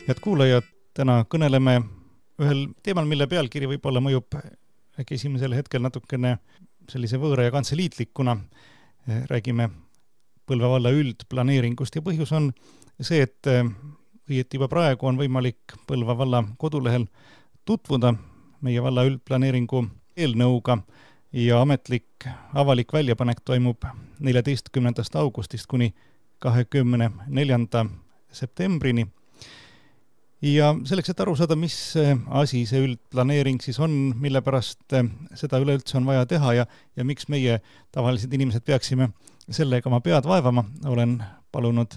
Head kuulajad, täna kõneleme ühel teemal, mille pealkiri võib-olla mõjub äkki esimesel hetkel natukene sellise võõra ja kantseliitlikuna. Räägime Põlva valla üldplaneeringust ja põhjus on see, et õieti juba praegu on võimalik Põlva valla kodulehel tutvuda meie valla üldplaneeringu eelnõuga ja ametlik avalik väljapanek toimub 14. augustist kuni 24. septembrini. Ja selleks, et aru saada, mis asi see üldplaneering siis on, mille pärast seda üleüldse on vaja teha ja miks meie tavalised inimesed peaksime sellega oma pead vaevama, olen palunud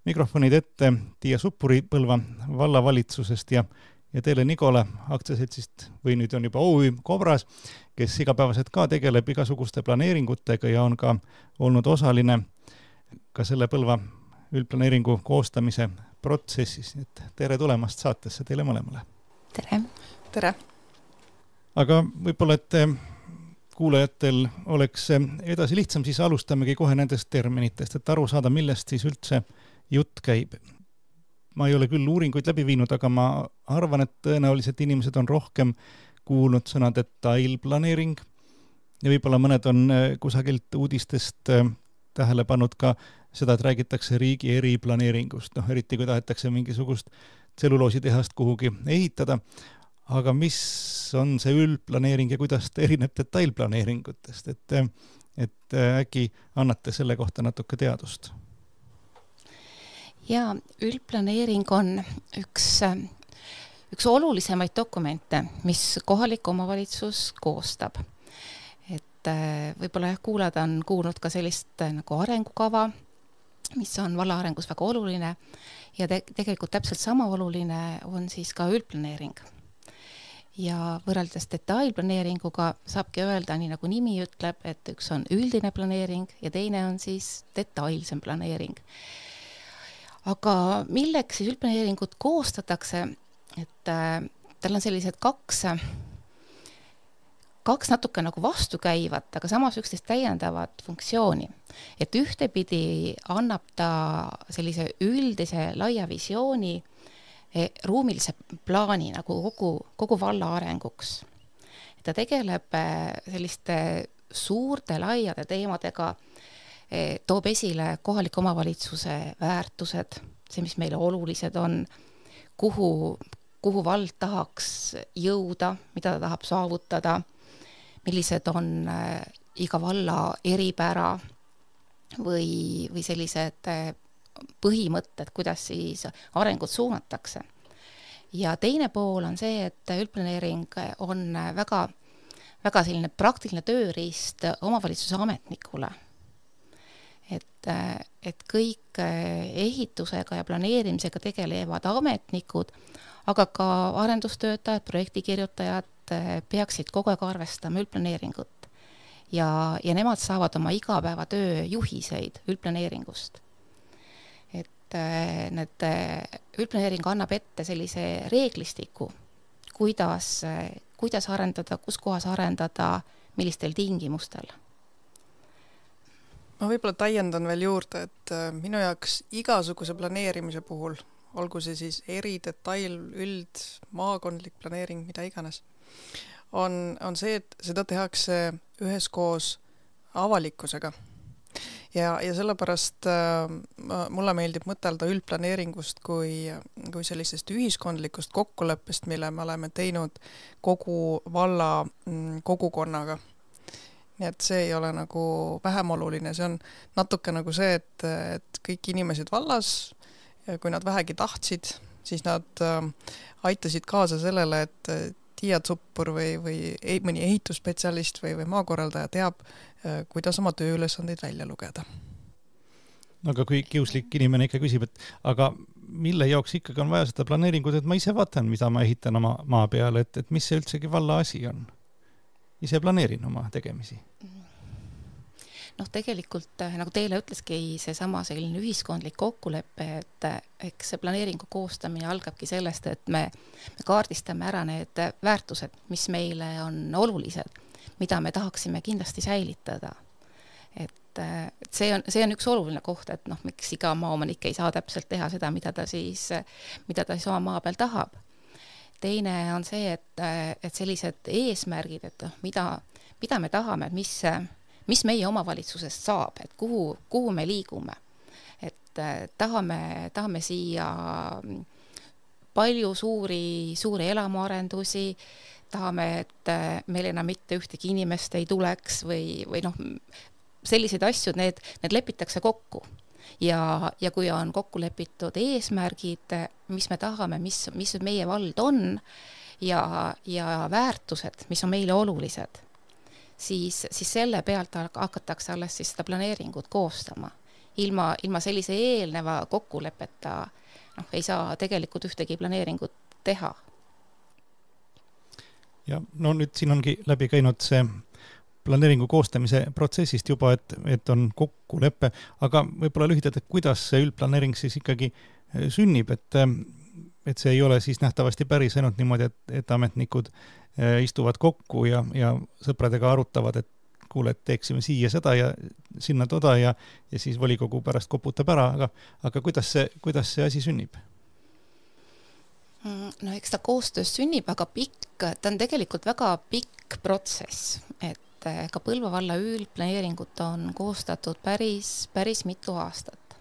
mikrofonid ette Tiia Suppuri Põlva vallavalitsusest ja Teele Nigole aktsiaseltsist või nüüd on juba OÜ Kobras, kes igapäevaselt ka tegeleb igasuguste planeeringutega ja on ka olnud osaline ka selle Põlva üldplaneeringu koostamise protsessis. Et tere tulemast saatesse teile mõlemale. Tere. Tere. Aga võib-olla, et kuulajatel oleks edasi lihtsam, siis alustamegi kohe nendest terminitest, et aru saada, millest siis üldse jutt käib. Ma ei ole küll uuringuid läbi viinud, aga ma arvan, et tõenäoliselt inimesed on rohkem kuulnud sõna detailplaneering ja võib-olla mõned on kusagilt uudistest tähele pannud ka seda, et räägitakse riigi eriplaneeringust, eriti kui tahetakse mingisugust tselluloositehast kuhugi ehitada. Aga mis on see üldplaneering ja kuidas ta erineb detailplaneeringutest? Et äkki annate selle kohta natuke teadust? Ja üldplaneering on üks olulisemaid dokumente, mis kohalik omavalitsus koostab. Et võib-olla kuulajad on kuulnud ka sellist nagu arengukava, mis on valla arengus väga oluline ja tegelikult täpselt sama oluline on siis ka üldplaneering. Ja võrreldes detailplaneeringuga saabki öelda, nii nagu nimi ütleb, et üks on üldine planeering ja teine on siis detailsem planeering. Aga milleks siis üldplaneeringut koostatakse, et tal on sellised kaks natuke nagu vastukäivat, aga samas üksteist täiendavat funktsiooni. Et ühtepidi annab ta sellise üldise laia visiooni ruumilise plaani nagu kogu valla arenguks. Ta tegeleb selliste suurte laiade teemadega, toob esile kohaliku omavalitsuse väärtused, see, mis meile olulised on, kuhu vald tahaks jõuda, mida ta tahab saavutada, millised on iga valla eripära või sellised põhimõtted, kuidas siis arengut suunatakse. Ja teine pool on see, et üldplaneering on väga, väga selline praktiline tööriist omavalitsuse ametnikule. Et kõik ehitusega ja planeerimisega tegelevad ametnikud, aga ka arendustöötajad, projektikirjutajad peaksid kogu aeg arvestama üldplaneeringut ja nemad saavad oma igapäevatöö juhiseid üldplaneeringust. Et need üldplaneering annab ette sellise reeglistiku, kuidas arendada, kus kohas arendada, millistel tingimustel. Ma võib-olla täiendan veel juurde, et minu jaoks igasuguse planeerimise puhul, olgu see siis eri, detail, üld, maakondlik planeering, mida iganes, on see, et seda tehakse üheskoos avalikkusega. Ja sellepärast mulle meeldib mõtelda üldplaneeringust kui sellisest ühiskondlikust kokkuleppest, mille me oleme teinud kogu valla kogukonnaga. Nii et see ei ole nagu vähem oluline, see on natuke nagu see, et kõik inimesed vallas, kui nad vähegi tahtsid, siis nad aitasid kaasa sellele, et Tiia Suppur või mõni ehitusspetsialist või maakorraldaja teab, kuidas oma tööülesandeid välja lugeda. Aga kui kiuslik inimene ikka küsib, et aga mille jaoks ikkagi on vaja seda planeeringut, et ma ise vaatan, mida ma ehitan oma maa peale, et mis see üldsegi valla asi on? Ise planeerin oma tegemisi. Tegelikult, nagu Teele ütleski, see sama selline ühiskondlik kokkulepe, et eks see planeeringu koostamine algabki sellest, et me kaardistame ära need väärtused, mis meile on olulised, mida me tahaksime kindlasti säilitada. Et see on üks oluline koht, et noh, miks iga maaomanik ei saa täpselt teha seda, mida ta siis oma maa peal tahab. Teine on see, et sellised eesmärgid, et noh, mida me tahame, et mis meie omavalitsusest saab, et kuhu me liigume. Et tahame siia palju suuri elamuarendusi, tahame, et meil enam mitte ühtegi inimest ei tuleks või noh, selliseid asju, need lepitakse kokku. Ja kui on kokku lepitud eesmärgid, mis me tahame, mis meie vald on ja väärtused, mis on meile olulised, siis selle pealt hakatakse alles siis seda planeeringut koostama. Ilma sellise eelneva kokkulepeta ei saa tegelikult ühtegi planeeringut teha. Ja no nüüd siin ongi läbi käinud see planeeringu koostamise protsessist juba, et on kokkulepe, aga võib-olla lühidalt, et kuidas see üldplaneering siis ikkagi sünnib, et see ei ole siis nähtavasti päris ainult niimoodi, et ametnikud istuvad kokku ja sõpradega arutavad, et kuule, et teeksime siia seda ja sinna toda ja siis volikogu pärast koputab ära, aga kuidas see asi sünnib? No eks ta koostöös sünnib, aga ta on tegelikult väga pikk protsess, et ka Põlva valla üldplaneeringut on koostatud päris mitu aastat.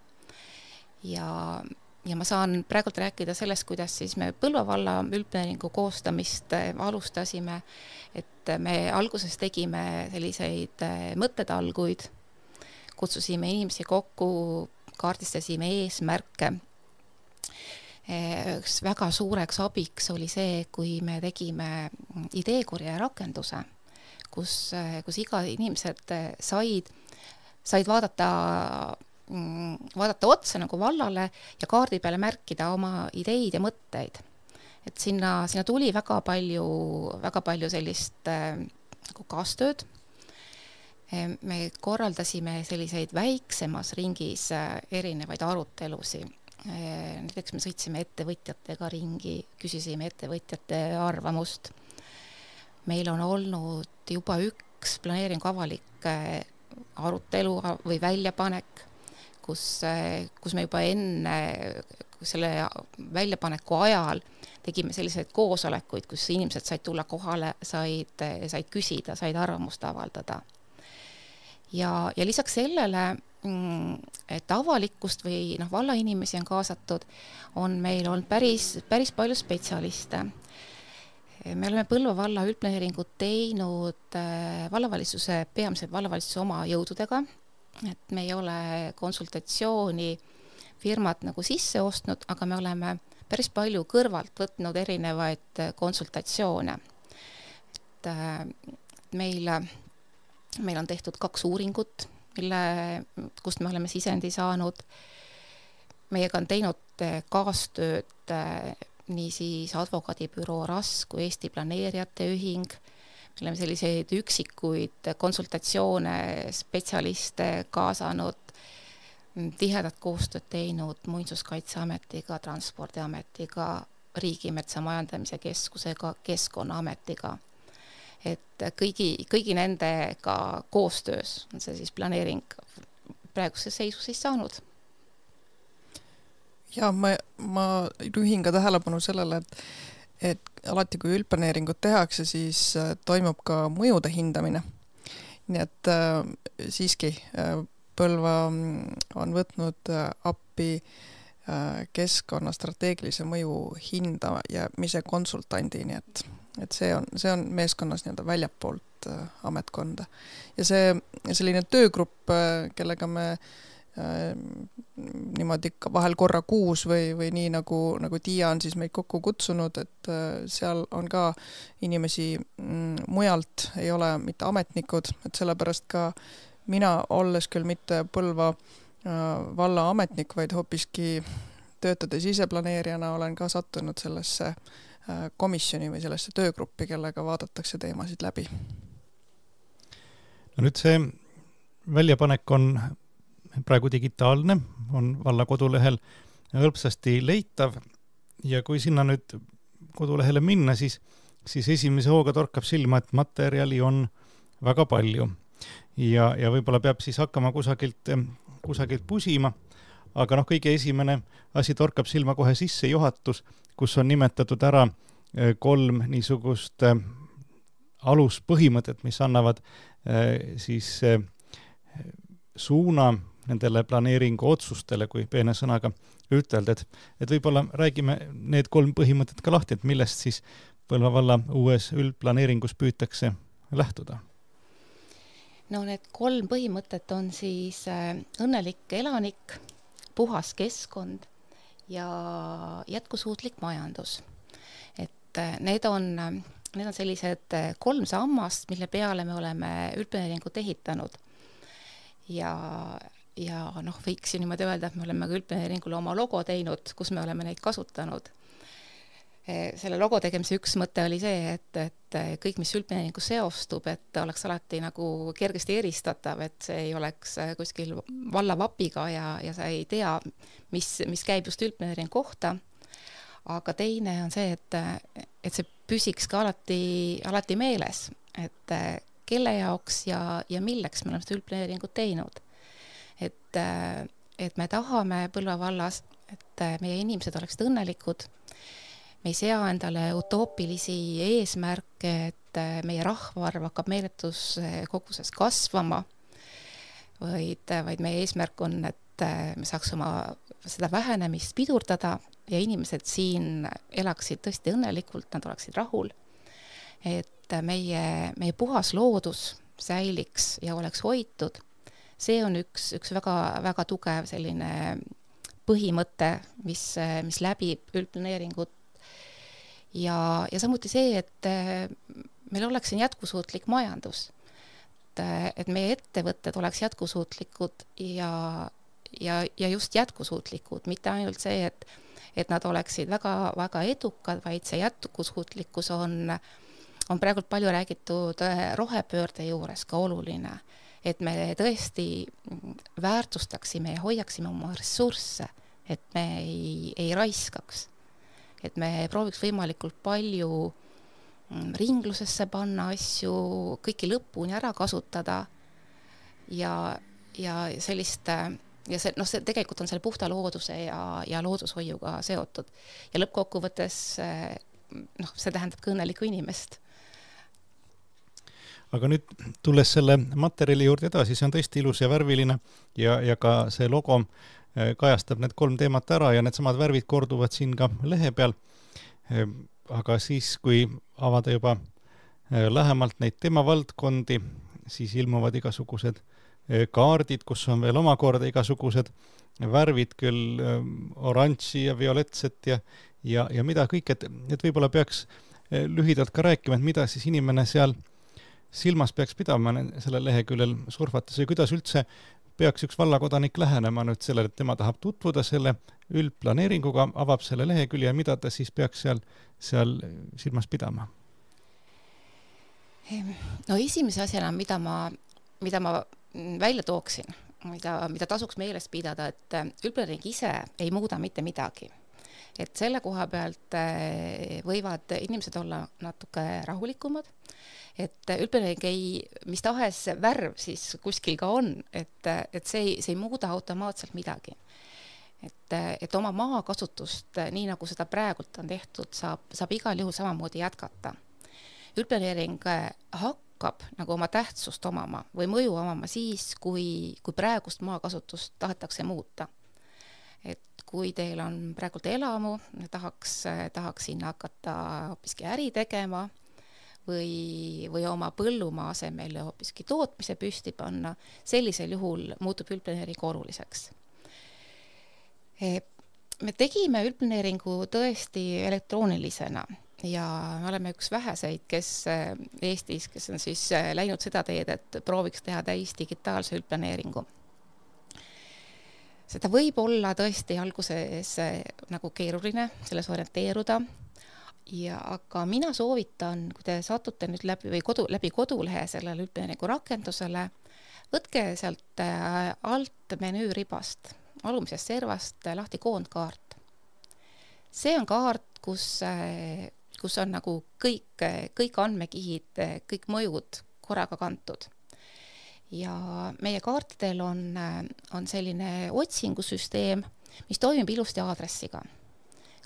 Ja ma saan praegult rääkida sellest, kuidas siis me Põlva valla üldplaneeringu koostamist alustasime, et me alguses tegime selliseid mõttetalguid, kutsusime inimesi kokku, kaardistasime eesmärke. Üks väga suureks abiks oli see, kui me tegime ideekorje rakenduse, kus iga inimesed said vaadata otsa nagu vallale ja kaardi peale märkida oma ideid ja mõtteid. Et sinna tuli väga palju sellist nagu kaastööd. Me korraldasime selliseid väiksemas ringis erinevaid arutelusi. Näiteks me sõitsime ettevõtjatega ringi, küsisime ettevõtjate arvamust. Meil on olnud juba üks planeeringu avalik arutelu või väljapanek, kus me juba enne selle väljapaneku ajal tegime selliseid koosolekuid, kus inimesed said tulla kohale, said küsida, said arvamust avaldada. Ja lisaks sellele, et avalikkust või valla inimesi on kaasatud, on meil olnud päris palju spetsialiste. Me oleme Põlva valla üldplaneeringut teinud peamiselt vallavalitsuse oma jõududega, et me ei ole konsultatsiooni firmat nagu sisse ostnud, aga me oleme päris palju kõrvalt võtnud erinevaid konsultatsioone. Et meil on tehtud 2 uuringut, kust me oleme sisendi saanud. Meiega on teinud kaastööd nii siis advokaadibüroo RAS kui Eesti planeerijate ühing. Me oleme selliseid üksikuid konsultatsioone, spetsialiste kaasanud, tihedat koostööd teinud Muinsuskaitseametiga, Transpordiametiga, Riigimetsa Majandamise Keskusega, Keskkonnaametiga. Et kõigi nendega koostöös on see siis planeering praeguse seisu siis saanud. Ja ma juhin ka tähelepanu sellele, et alati kui üldplaneeringut tehakse, siis toimub ka mõjude hindamine. Nii et siiski Põlva on võtnud appi keskkonna strateegilise mõju hindamise konsultandi, nii et see on meeskonnas nii-öelda väljapoolt ametkonda. Ja selline töögrupp, kellega me niimoodi vahel korra kuus või nii nagu Tiia on siis meid kokku kutsunud, et seal on ka inimesi mujalt, ei ole mitte ametnikud, et sellepärast ka mina, olles küll mitte Põlva valla ametnik, vaid hoopiski töötades ise planeerijana, olen ka sattunud sellesse komisjoni või sellesse töögruppi, kellega vaadatakse teemasid läbi. No nüüd see väljapanek on praegu digitaalne, on valla kodulehel hõlpsasti leitav ja kui sinna nüüd kodulehele minna, siis esimese hooga torkab silma, et materjali on väga palju. ja võib-olla peab siis hakkama kusagilt pusima, aga kõige esimene asi torkab silma kohe sissejuhatus, kus on nimetatud ära 3 niisugust aluspõhimõtet, mis annavad siis suuna nendele planeeringu otsustele, kui peene sõnaga ütelda, et võib-olla räägime need 3 põhimõtet ka lahti, et millest siis Põlva valla uues üldplaneeringus püütakse lähtuda. No need 3 põhimõtet on siis õnnelik elanik, puhas keskkond ja jätkusuutlik majandus. Et need on sellised 3 sammast, mille peale me oleme üldplaneeringut ehitanud. Ja võiks ju niimoodi öelda, et me oleme ka üldplaneeringule oma logo teinud, kus me oleme neid kasutanud. Selle logo tegemise üks mõte oli see, et kõik, mis üldplaneeringu seostub, et oleks alati nagu kergesti eristatav, et see ei oleks kuskil valla vapiga ja sa ei tea, mis käib just üldplaneeringu kohta. Aga teine on see, et see püsiks ka alati meeles, et kelle jaoks ja milleks me oleme seda üldplaneeringut teinud. Et me tahame Põlva vallas, et meie inimesed oleksid õnnelikud. Me ei sea endale utoopilisi eesmärke, et meie rahvaarv hakkab meeletus koguses kasvama, vaid meie eesmärk on, et me saaks oma seda vähenemist pidurdada ja inimesed siin elaksid tõesti õnnelikult, nad oleksid rahul. Et meie puhas loodus säiliks ja oleks hoitud. See on üks väga, väga tugev selline põhimõte, mis läbib üldplaneeringut. Ja samuti see, et meil oleks siin jätkusuutlik majandus. Et meie ettevõtted oleks jätkusuutlikud ja just jätkusuutlikud, mitte ainult see, et nad oleksid väga, väga edukad, vaid see jätkusuutlikkus on praegult palju räägitud rohepöörde juures ka oluline, et me tõesti väärtustaksime ja hoiaksime oma ressursse, et me ei raiskaks. Et me prooviks võimalikult palju ringlusesse panna asju, kõiki lõpuni ära kasutada ja sellist, see tegelikult on selle puhta looduse ja loodushoiuga seotud. Ja lõppkokkuvõttes see tähendab ka õnnelikku inimest. Aga nüüd tulles selle materjali juurde edasi, see on tõesti ilus ja värviline ja ka see logo kajastab need 3 teemat ära ja need samad värvid korduvad siin ka lehe peal. Aga siis, kui avada juba lähemalt neid teemavaldkondi, siis ilmuvad igasugused kaardid, kus on veel omakorda igasugused värvid, küll oranži ja violetset ja mida kõik, et võib-olla peaks lühidalt ka rääkima, et mida siis inimene seal silmas peaks pidama selle leheküljel surfates ja kuidas üldse peaks üks vallakodanik lähenema nüüd sellele, et tema tahab tutvuda selle üldplaneeringuga, avab selle lehekülje ja mida ta siis peaks seal silmas pidama? No esimese asjana, mida ma välja tooksin, mida tasuks meeles pidada, et üldplaneering ise ei muuda mitte midagi. Et selle koha pealt võivad inimesed olla natuke rahulikumad, et üldplaneering mis tahes värv siis kuskil ka on, et see ei muuda automaatselt midagi. Et oma maakasutust, nii nagu seda praegult on tehtud, saab igal juhul samamoodi jätkata. Üldplaneering hakkab nagu oma tähtsust omama või mõju omama siis, kui praegust maakasutust tahetakse muuta. Et kui teil on praegult elamu, tahaks sinna hakata hoopiski äri tegema või oma põllumaa asemel hoopiski tootmise püsti panna, sellisel juhul muutub üldplaneering oluliseks. Me tegime üldplaneeringu tõesti elektroonilisena ja me oleme üks väheseid, kes Eestis, kes on siis läinud seda teed, et prooviks teha täis digitaalse üldplaneeringu. Seda võib olla tõesti alguses nagu keeruline selles orienteeruda, aga mina soovitan, kui te satute nüüd läbi kodulehe sellele üldplaneeringu rakendusele, võtke sealt alt menüüribast, alumisest servast lahti koondkaart. See on kaart, kus on nagu kõik andmekihid, kõik mõjud korraga kantud. ja meie kaartidel on selline otsingusüsteem, mis toimib ilusti aadressiga.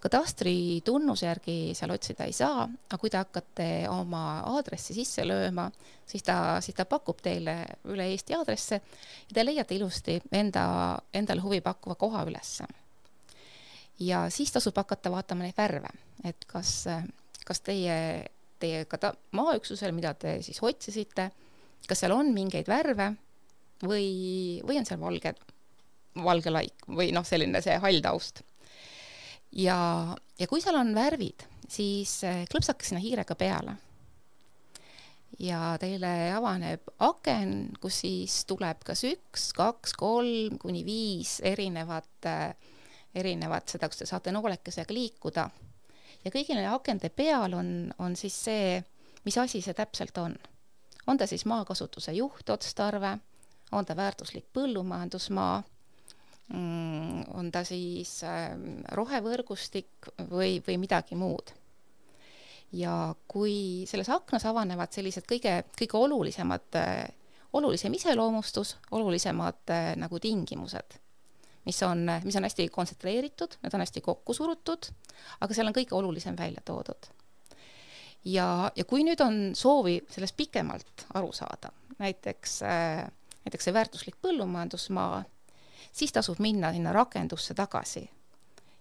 Kadastri tunnuse järgi seal otsida ei saa, aga kui te hakkate oma aadressi sisse lööma, siis ta pakub teile üle Eesti aadresse ja te leiate ilusti endale huvi pakkuva koha ülesse. Ja siis tasub hakata vaatama neid värve, et kas teie maaüksusel, mida te siis otsisite, kas seal on mingeid värve või on seal valge laik või selline see hall taust. Ja kui seal on värvid, siis klõpsake sinna hiirega peale. Ja teile avaneb aken, kus siis tuleb kas 1, 2, 3 kuni 5 erinevat seda, kus te saate noolekesega liikuda. Ja kõigi neile akende peal on siis see, mis asi see täpselt on. On ta siis maakasutuse juhtotstarve, on ta väärtuslik põllumajandusmaa, on ta siis rohevõrgustik või midagi muud. Ja kui selles aknas avanevad sellised kõige olulisem iseloomustus, olulisemad nagu tingimused, mis on hästi kontsentreeritud, need on hästi kokku surutud, aga seal on kõige olulisem välja toodud. Ja kui nüüd on soovi sellest pikemalt aru saada, näiteks see väärtuslik põllumajandusmaa, siis tasub minna sinna rakendusse tagasi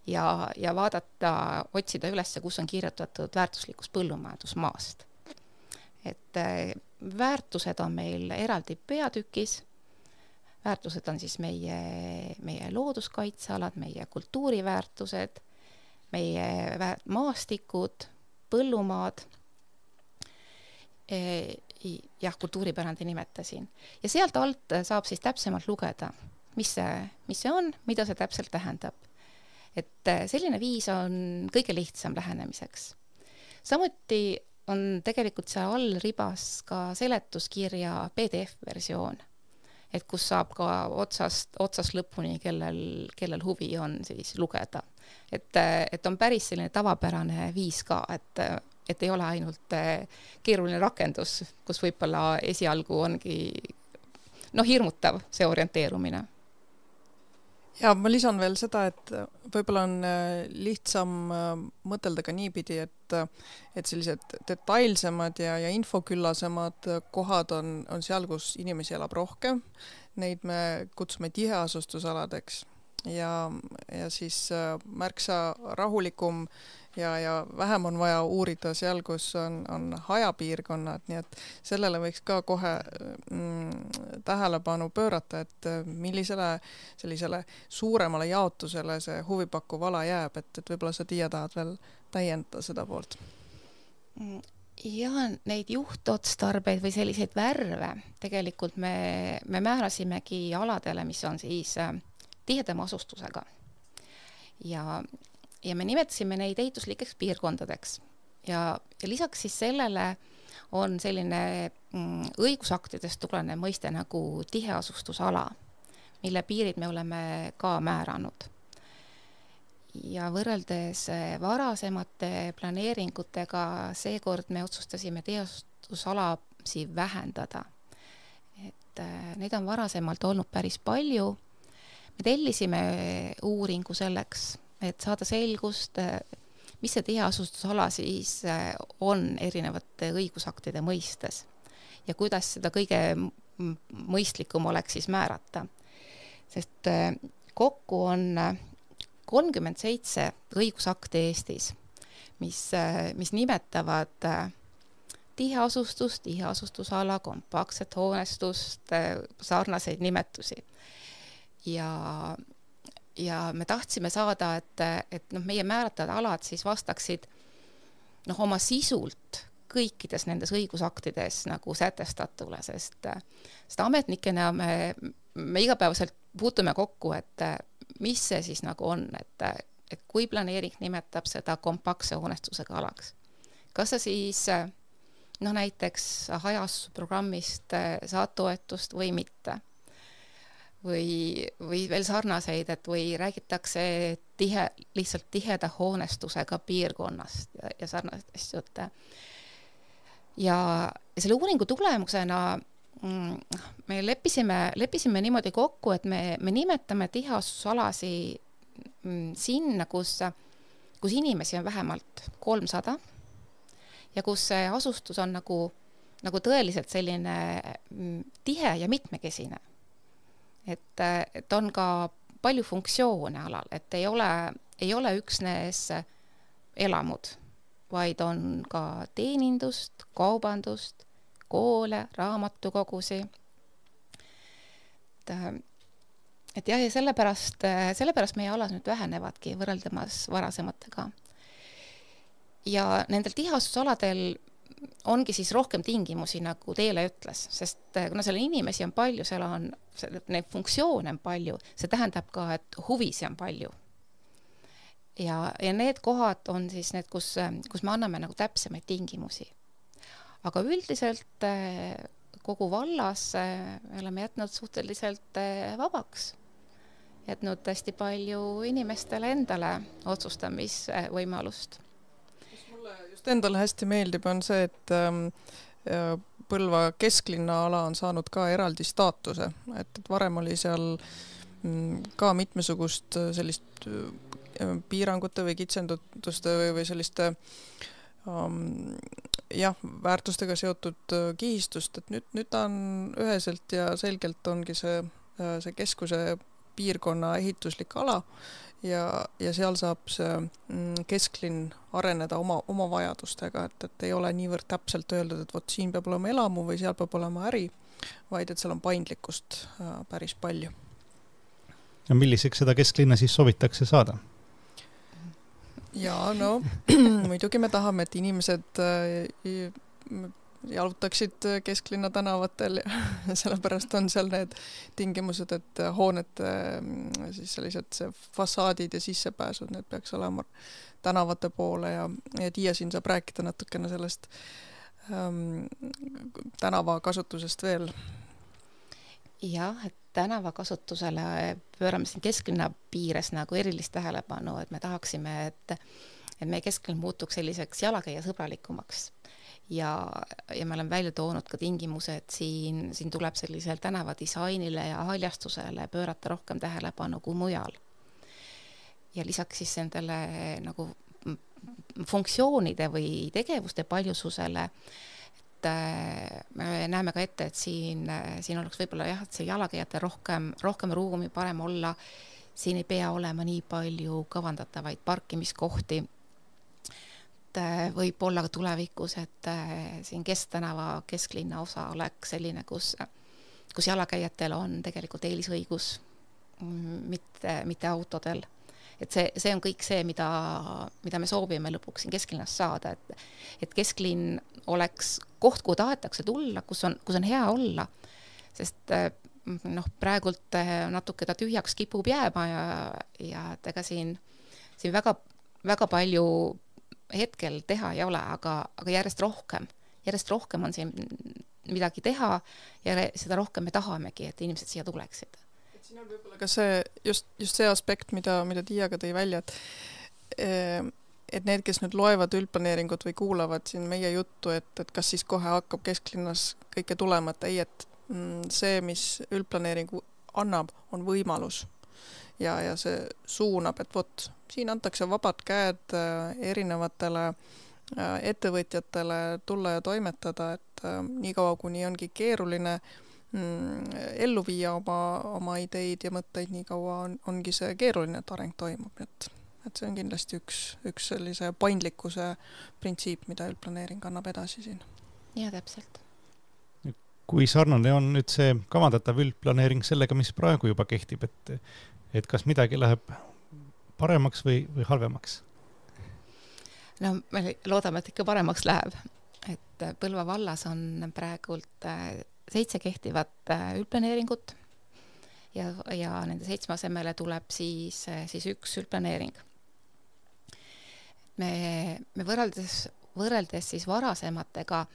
ja vaadata, otsida üles, kus on kirjutatud väärtuslikust põllumajandusmaast. Et väärtused on meil eraldi peatükis, väärtused on siis meie looduskaitsealad, meie kultuuriväärtused, meie maastikud, põllumaad, jah, kultuuripärandi nimetasin. Ja sealt alt saab siis täpsemalt lugeda, mis see on, mida see täpselt tähendab. Et selline viis on kõige lihtsam lähenemiseks. Samuti on tegelikult see all ribas ka seletuskirja PDF-versioon, et kus saab ka otsast lõpuni, kellel huvi on siis lugeda. Et on päris selline tavapärane viis ka, et ei ole ainult keeruline rakendus, kus võib-olla esialgu ongi hirmutav see orienteerumine. Ja ma lisan veel seda, et võib-olla on lihtsam mõtelda ka niipidi, et sellised detailsemad ja infoküllasemad kohad on seal, kus inimesi elab rohkem. Neid me kutsume tiheasustusaladeks ja siis märksa rahulikum ja vähem on vaja uurida seal, kus on hajapiirkonnad, nii et sellele võiks ka kohe tähelepanu pöörata, et millisele sellisele suuremale jaotusele see huvipakkuv ala jääb, et võib-olla sa, Tiia, tahad veel täiendada seda poolt? Ja neid juhtotstarbeid või selliseid värve tegelikult me määrasimegi aladele, mis on siis tihedama asustusega. Ja me nimetasime neid ehituslikeks piirkondadeks. Ja lisaks siis sellele on selline õigusaktidest tulenev mõiste nagu tiheasustusala, mille piirid me oleme ka määranud. Ja võrreldes varasemate planeeringutega seekord me otsustasime tiheasustusalasid vähendada. Et neid on varasemalt olnud päris palju. Me tellisime uuringu selleks, et saada selgust, mis see tiheasustusala siis on erinevate õigusaktide mõistes ja kuidas seda kõige mõistlikum oleks siis määrata. Sest kokku on 37 õigusakti Eestis, mis nimetavad tiheasustust, tiheasustusala, kompaktset hoonestust, sarnaseid nimetusi. Ja me tahtsime saada, et meie määratavad alad siis vastaksid oma sisult kõikides nendes õigusaktides nagu sätestatule, sest ametnikena me igapäevaselt puutume kokku, et mis see siis nagu on, et kui planeering nimetab seda kompaktse hoonestusega alaks. Kas sa siis näiteks hajasusprogrammist saad toetust või mitte? Või veel sarnaseid, et või räägitakse lihtsalt tiheda hoonestusega piirkonnast ja sarnaseid asju. Ja selle uuringu tulemusena me leppisime niimoodi kokku, et me nimetame tiheasustusalasid sinna, kus inimesi on vähemalt 300 ja kus see asustus on nagu tõeliselt selline tihe ja mitmekesine. Et on ka palju funktsioone alal, et ei ole üksnes elamud, vaid on ka teenindust, kaubandust, koole, raamatukogusi. Et jah, ja sellepärast meie alas nüüd vähenevadki võrreldamas varasematega. Ja nendel tiheasustusaladel ongi siis rohkem tingimusi, nagu Teele ütles, sest kuna seal inimesi on palju, seal on neid funktsioone on palju, see tähendab ka, et huvisi on palju. Ja need kohad on siis need, kus me anname nagu täpsemaid tingimusi. Aga üldiselt kogu vallas oleme jätnud suhteliselt vabaks. Jätnud hästi palju inimestele endale otsustamisvõimalust. Mis mulle just endale hästi meeldib, on see, et Põlva kesklinna ala on saanud ka eraldi staatuse. Et varem oli seal ka mitmesugust sellist piirangute või kitsenduste või selliste väärtustega seotud kihistust, et nüüd ta on üheselt ja selgelt ongi see keskuse piirkonna ehituslik ala ja seal saab see kesklinn areneda oma vajadustega, et ei ole niivõrd täpselt öeldud, et vot siin peab olema elamu või seal peab olema äri, vaid et seal on paindlikkust päris palju. Ja milliseks seda kesklinna siis soovitakse saada? Ja no muidugi me tahame, et inimesed jalutaksid kesklinna tänavatel ja sellepärast on seal need tingimused, et hoonete siis sellised fassaadid ja sissepääsud, need peaks olema tänavate poole ja Tiia siin saab rääkida natukene sellest tänava kasutusest veel. Jah, et tänavakasutusele pöörame siin kesklinna piires nagu erilist tähelepanu, et me tahaksime, et meie kesklinn muutuks selliseks jalakäija sõbralikumaks. Ja me oleme välja toonud ka tingimused, siin tuleb sellisel tänavadisainile ja haljastusele pöörata rohkem tähelepanu kui mujal. Ja lisaks siis nendele nagu funktsioonide või tegevuste paljususele, me näeme ka ette, et siin oleks võib-olla jah, et see jalakäijate rohkem ruumi, parem olla, siin ei pea olema nii palju kavandatavaid parkimiskohti. Võib olla ka tulevikus, et siin Kesktänava kesklinna osa oleks selline, kus jalakäijatel on tegelikult eelisõigus, mitte autodel. Et see on kõik see, mida me soovime lõpuks siin kesklinnas saada, et kesklinn oleks koht, kuhu tahetakse tulla, kus on hea olla, sest praegult natuke ta tühjaks kipub jääma ja ega siin väga palju hetkel teha ei ole, aga järjest rohkem on siin midagi teha ja seda rohkem me tahamegi, et inimesed siia tuleksid. Siin on võib-olla ka see, just see aspekt, mida Tiia ka tõi välja, et need, kes nüüd loevad üldplaneeringut või kuulavad siin meie juttu, et kas siis kohe hakkab kesklinnas kõike tulema, et ei, et see, mis üldplaneeringu annab, on võimalus ja see suunab, et vot, siin antakse vabad käed erinevatele ettevõtjatele tulla ja toimetada, et nii kaua, kuni ongi keeruline ellu viia oma ideid ja mõtteid, nii kaua ongi see keeruline, et areng toimub, et see on kindlasti üks sellise paindlikkuse printsiip, mida üldplaneering annab edasi siin. Ja täpselt. Kui sarnane on nüüd see kavandatav üldplaneering sellega, mis praegu juba kehtib, et kas midagi läheb paremaks või halvemaks? No me loodame, et ikka paremaks läheb. Et Põlva vallas on praegult 7 kehtivat üldplaneeringut ja nende 7 asemele tuleb siis üks üldplaneering. Me võrreldes siis varasematega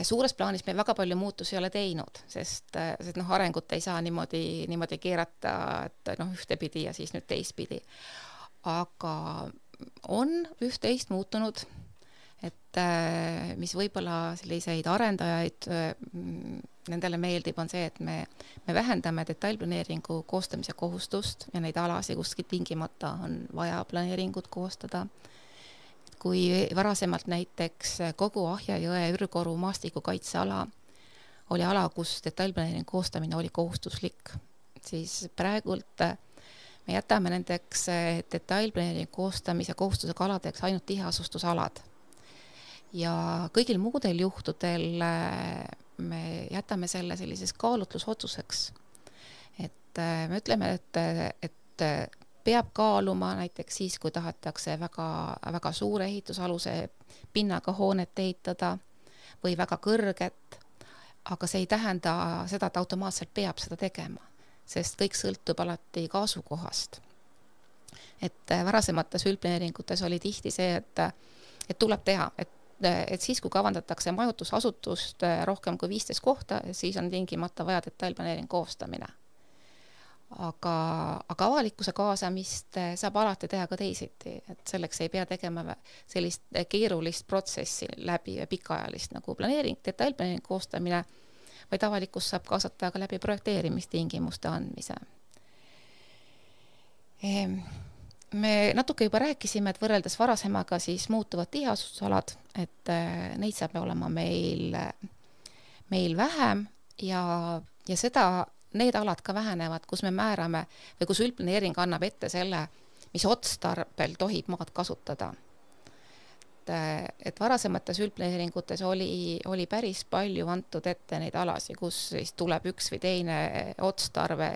suures plaanis me väga palju muutusi ei ole teinud, sest arengut ei saa niimoodi keerata, et ühtepidi ja siis nüüd teistpidi. Aga on üht-teist muutunud, et mis võib-olla selliseid arendajaid, nendele meeldib, on see, et me vähendame detailplaneeringu koostamise kohustust ja neid alasid kuskil tingimata on vaja planeeringut koostada. Kui varasemalt näiteks kogu Ahja jõe Ürgoru maastikukaitseala oli ala, kus detailplaneeringu koostamine oli kohustuslik, siis praegult me jätame nendeks detailplaneeringu koostamise kohustusega aladeks ainult tiheasustusalad. Ja kõigil muudel juhtudel me jätame selle sellises kaalutlusotsuseks. Et me ütleme, et peab kaaluma näiteks siis, kui tahetakse väga, väga suure ehitusaluse pinnaga hoonet ehitada või väga kõrget, aga see ei tähenda seda, et automaatselt peab seda tegema, sest kõik sõltub alati ka asukohast. Et varasemates üldplaneeringutes oli tihti see, et tuleb teha, et siis, kui kavandatakse majutusasutust rohkem kui 15 kohta, siis on tingimata vaja detailplaneering koostamine. Aga avalikkuse kaasamist saab alati teha ka teisiti, et selleks ei pea tegema sellist keerulist protsessi läbi pikaajalist nagu planeering, detailplaneering koostamine, vaid avalikkus saab kaasata ka läbi projekteerimistingimuste andmise. Me natuke juba rääkisime, et võrreldes varasemaga siis muutuvad tiheasustusalad, et neid saab olema meil vähem ja seda need alad ka vähenevad, kus me määrame või kus üldplaneering annab ette selle, mis otstarbel tohib maad kasutada. Et varasemates üldplaneeringutes oli päris palju antud ette neid alasi, kus siis tuleb üks või teine otstarve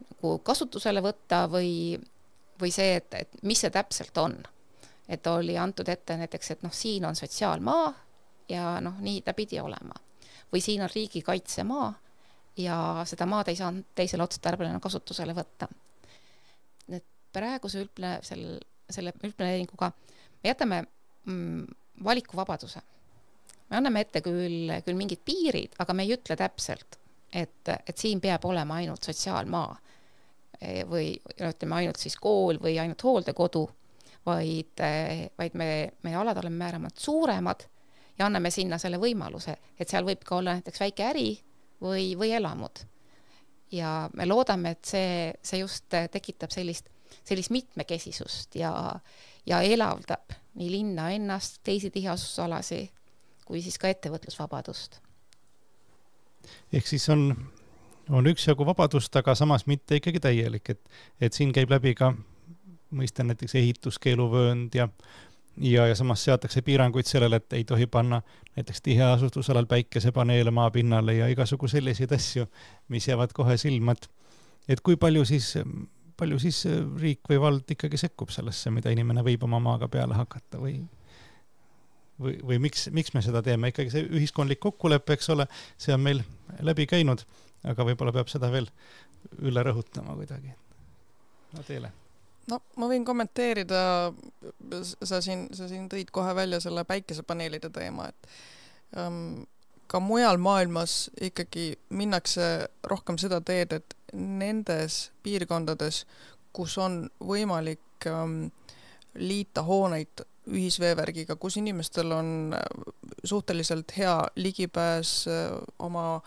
nagu kasutusele võtta või see, et mis see täpselt on. Et oli antud ette näiteks, et siin on sotsiaalmaa ja nii ta pidi olema. Või siin on riigikaitsemaa ja seda maad ei saanud teisele otstarbele kasutusele võtta. Et praeguse selle üldplaneeringuga me jätame valikuvabaduse. Me anname ette küll mingid piirid, aga me ei ütle täpselt, et siin peab olema ainult sotsiaalmaa või ütleme ainult siis kool või ainult hooldekodu, vaid me alad oleme määramad suuremad ja anname sinna selle võimaluse, et seal võib ka olla näiteks väike äri või elamud. Ja me loodame, et see just tekitab sellist mitmekesisust ja elavdab nii linna ennast, teisi tiheasustusalasi kui siis ka ettevõtlusvabadust. Ehk siis on üksjagu vabadust, aga samas mitte ikkagi täielik, et siin käib läbi ka mõista näiteks ehituskeeluvöönd ja samas seatakse piiranguid sellele, et ei tohi panna näiteks tiheasustusalal päikesepaneele maapinnale ja igasugu selliseid asju, mis jäävad kohe silmad. Et kui palju siis riik või vald ikkagi sekkub sellesse, mida inimene võib oma maaga peale hakata või miks me seda teeme? Ikkagi see ühiskondlik kokkulepe, eks ole, see on meil läbi käinud, aga võib-olla peab seda veel üle rõhutama kuidagi. No teile. No ma võin kommenteerida, sa siin tõid kohe välja selle päikesepaneelide teema, et ka mujal maailmas ikkagi minnakse rohkem seda teed, et nendes piirkondades, kus on võimalik liita hooneid ühisveevärgiga, kus inimestel on suhteliselt hea ligipääs oma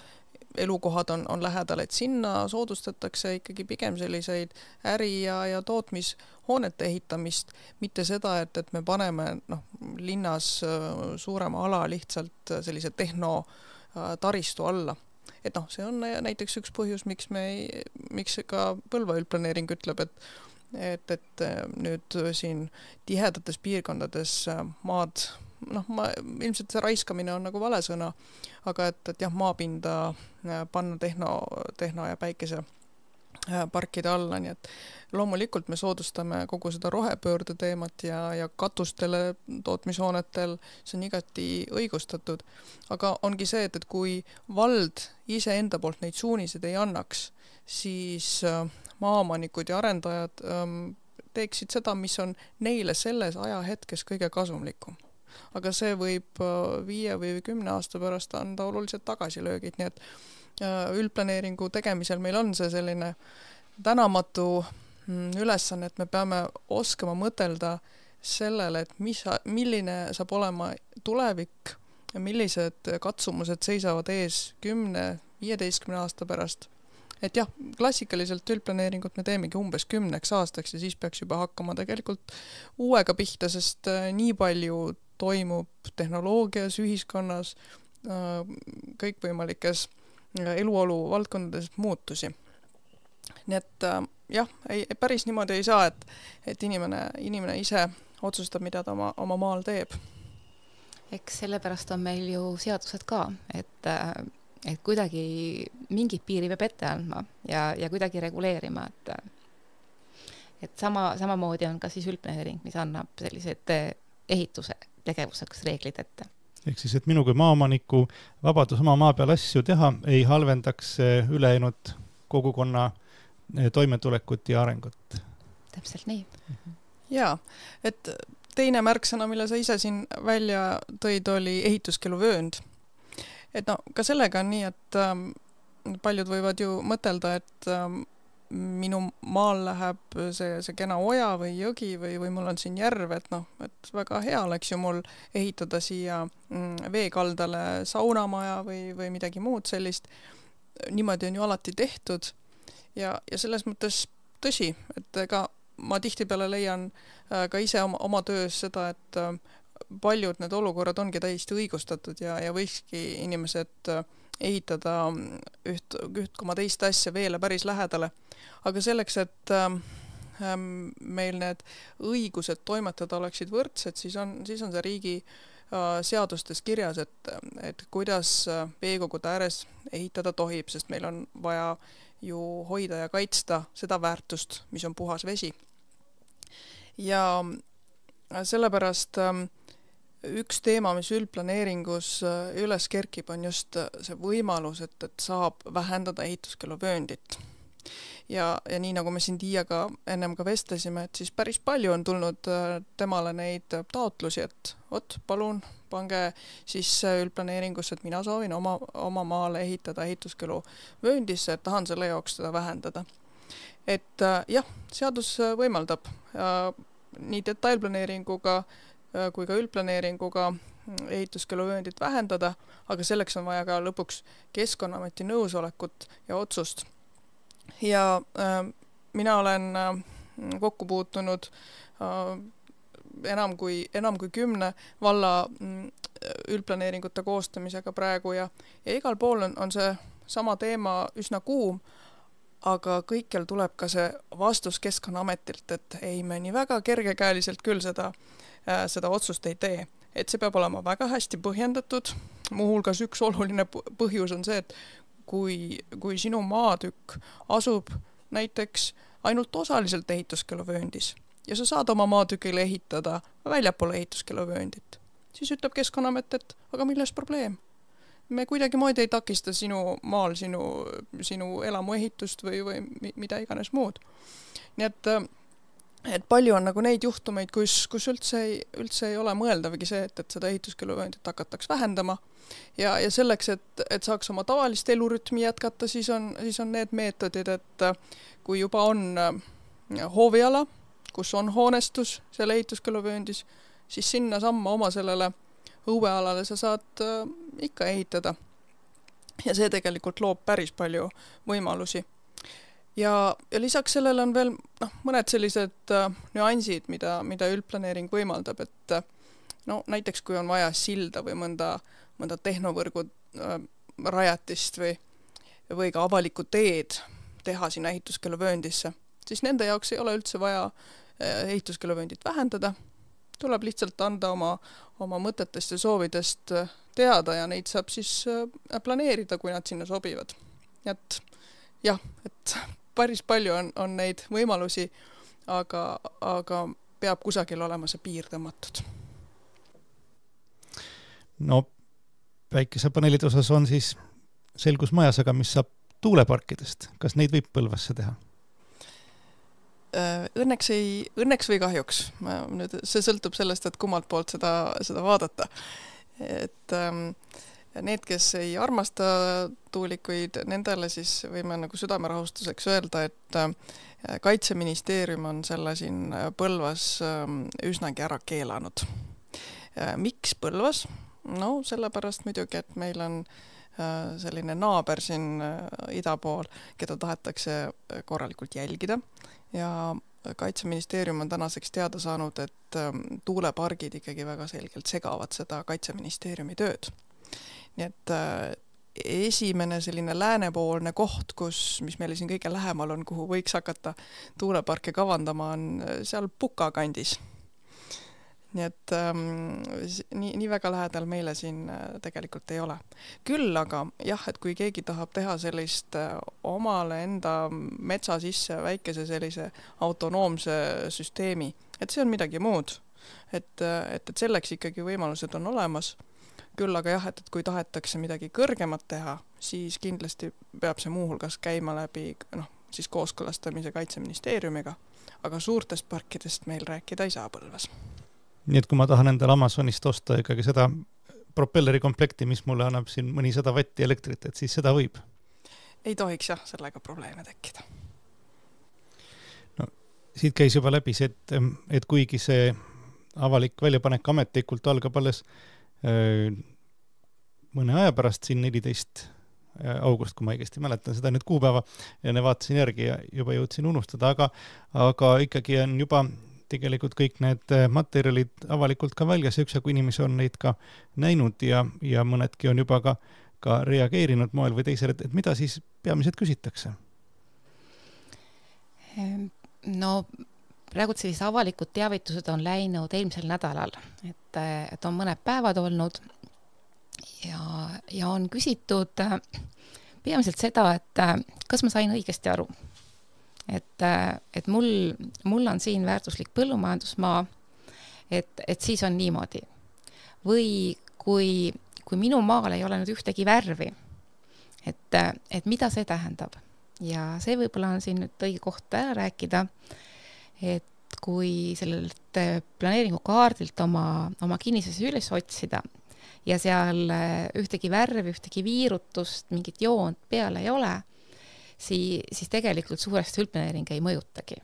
elukohad on lähedal, et sinna soodustatakse ikkagi pigem selliseid äri- ja tootmishoonete ehitamist, mitte seda, et me paneme linnas suurema ala lihtsalt sellise tehnotaristu alla. Et see on näiteks üks põhjus, miks ka Põlva üldplaneering ütleb, et nüüd siin tihedates piirkondades maad, ilmselt see raiskamine on nagu vale sõna, aga et jah, maapinda panna tehno ja päikese parkide alla, nii et loomulikult me soodustame kogu seda rohepöörde teemat ja katustele tootmishoonetel, see on igati õigustatud, aga ongi see, et kui vald ise enda poolt neid suuniseid ei annaks, siis maaomanikud ja arendajad teeksid seda, mis on neile selles ajahetkes kõige kasumlikum. Aga see võib 5 või 10 aasta pärast anda oluliselt tagasilöögid, nii et üldplaneeringu tegemisel meil on see selline tänamatu ülesanne, et me peame oskama mõtelda sellele, et milline saab olema tulevik ja millised katsumused seisavad ees 10-15 aasta pärast. Et jah, klassikaliselt üldplaneeringut me teemegi umbes 10 aastaks ja siis peaks juba hakkama tegelikult uuega pihta, sest nii palju toimub tehnoloogias, ühiskonnas, kõikvõimalikes eluolu valdkondades muutusi. Nii et jah, päris niimoodi ei saa, et inimene ise otsustab, mida ta oma maal teeb. Eks sellepärast on meil ju seadused ka, et kuidagi mingid piiri peab ette andma ja kuidagi reguleerima, et samamoodi on ka siis üldplaneering, mis annab sellised ehituse tegevuseks reeglid ette. Ehk siis, et minu kui maaomaniku vabadus oma maa peal asju teha ei halvendaks ülejäänud kogukonna toimetulekut ja arengut. Täpselt nii. Jaa, et teine märksõna, mille sa ise siin välja tõid, oli ehituskeeluvöönd. Et no, ka sellega on nii, et paljud võivad ju mõtelda, et minu maal läheb see kena oja või jõgi või mul on siin järv, et et väga hea oleks ju mul ehitada siia veekaldale saunamaja või midagi muud sellist. Niimoodi on ju alati tehtud ja selles mõttes tõsi, et ega ma tihtipeale leian ka ise oma töös seda, et paljud need olukorrad ongi täiesti õigustatud ja võikski inimesed ehitada üht koma teist asja veele päris lähedale. Aga selleks, et meil need õigused toimetada oleksid võrdsed, siis on see riigi seadustes kirjas, et kuidas veekogude ääres ehitada tohib, sest meil on vaja ju hoida ja kaitsta seda väärtust, mis on puhas vesi. Ja sellepärast üks teema, mis üldplaneeringus üles kerkib, on just see võimalus, et saab vähendada ehituskeeluvööndit. Ja nii nagu me siin Tiiaga ennem ka vestlesime, et siis päris palju on tulnud temale neid taotlusi, et palun pange siis üldplaneeringusse, et mina soovin oma maale ehitada ehituskeeluvööndisse, et tahan selle jaoks seda vähendada. Et jah, seadus võimaldab nii detailplaneeringuga kui ka üldplaneeringuga ehituskeeluvööndit vähendada, aga selleks on vaja ka lõpuks Keskkonnaameti nõusolekut ja otsust. Ja mina olen kokku puutunud enam kui 10 valla üldplaneeringute koostamisega praegu ja igal pool on see sama teema üsna kuum, aga kõikjal tuleb ka see vastus Keskkonnaametilt, et ei, me nii väga kergekäeliselt küll seda otsust ei tee. Et see peab olema väga hästi põhjendatud. Muuhulgas üks oluline põhjus on see, et kui sinu maatükk asub näiteks ainult osaliselt ehituskeeluvööndis ja sa saad oma maatükile ehitada väljapoole ehituskeeluvööndit, siis ütleb Keskkonnaamet, et aga milles probleem? Me kuidagi moodi ei takista sinu maal sinu elamuehitust või mida iganes muud. Nii et palju on nagu neid juhtumeid, kus üldse ei ole mõeldavagi see, et seda ehituskeeluvööndit hakataks vähendama. Ja selleks, et saaks oma tavalist elurütmi jätkata, siis on need meetodid, et kui juba on hooviala, kus on hoonestus selle ehituskeeluvööndis, siis sinna samma oma sellele õuealale sa saad ikka ehitada. Ja see tegelikult loob päris palju võimalusi. Ja lisaks sellele on veel mõned sellised nüansid, mida üldplaneering võimaldab, et näiteks kui on vaja silda või mõnda tehnovõrgu rajatist või ka avalikku teed teha sinna ehituskeeluvööndisse, siis nende jaoks ei ole üldse vaja ehituskeeluvööndit vähendada. Tuleb lihtsalt anda oma mõtetest ja soovidest teada ja neid saab siis planeerida, kui nad sinna sobivad. Et jah, et päris palju on neid võimalusi, aga peab kusagil olema see piir tõmmatud. No päikesepaneelide osas on siis selgus majas, aga mis saab tuuleparkidest? Kas neid võib Põlvasse teha? Õnneks või kahjuks. See sõltub sellest, et kummalt poolt seda vaadata. Et need, kes ei armasta tuulikuid, nendele siis võime nagu südamerahustuseks öelda, et Kaitseministeerium on selle siin Põlvas üsnagi ära keelanud. Miks Põlvas? No sellepärast muidugi, et meil on selline naaber siin ida pool, keda tahetakse korralikult jälgida ja Kaitseministeerium on tänaseks teada saanud, et tuulepargid ikkagi väga selgelt segavad seda Kaitseministeeriumi tööd. Nii et esimene selline läänepoolne koht, mis meile siin kõige lähemal on, kuhu võiks hakata tuuleparke kavandama, on seal Puka kandis. Nii et nii väga lähedal meile siin tegelikult ei ole. Küll aga jah, et kui keegi tahab teha sellist omale enda metsa sisse väikese sellise autonoomse süsteemi, et see on midagi muud. Et selleks ikkagi võimalused on olemas. Küll aga jah, et kui tahetakse midagi kõrgemat teha, siis kindlasti peab see muuhulgas käima läbi siis kooskõlastamise Kaitseministeeriumiga, aga suurtest parkidest meil rääkida ei saa Põlvas. Nii et kui ma tahan endale Amazonist osta ikkagi seda propelleri komplekti, mis mulle annab siin mõni 100 vatti elektrit, et siis seda võib? Ei tohiks jah, sellega probleeme tekkida. No, siit käis juba läbi see, et kuigi see avalik väljapanek ametlikult algab alles mõne aja pärast, siin 14 august, kui ma õigesti mäletan seda nüüd kuupäeva, ja ne vaatasin järgi ja juba jõudsin unustada, aga ikkagi on juba tegelikult kõik need materjalid avalikult ka väljas ja üksjagu inimesi on neid ka näinud ja mõnedki on juba ka reageerinud moel või teisel, et mida siis peamiselt küsitakse? No praegu sellised avalikud teavitused on läinud eelmisel nädalal, et on mõned päevad olnud ja on küsitud peamiselt seda, et kas ma sain õigesti aru. Et mul on siin väärtuslik põllumajandusmaa, et siis on niimoodi. Või kui minu maal ei ole nüüd ühtegi värvi, et mida see tähendab. Ja see võib-olla on siin nüüd õige koht ära rääkida, et kui sellelt planeeringukaardilt oma kinnisesse üles otsida ja seal ühtegi värvi, ühtegi viirutust, mingit joont peale ei ole, siis tegelikult suuresti üldplaneering ei mõjutagi.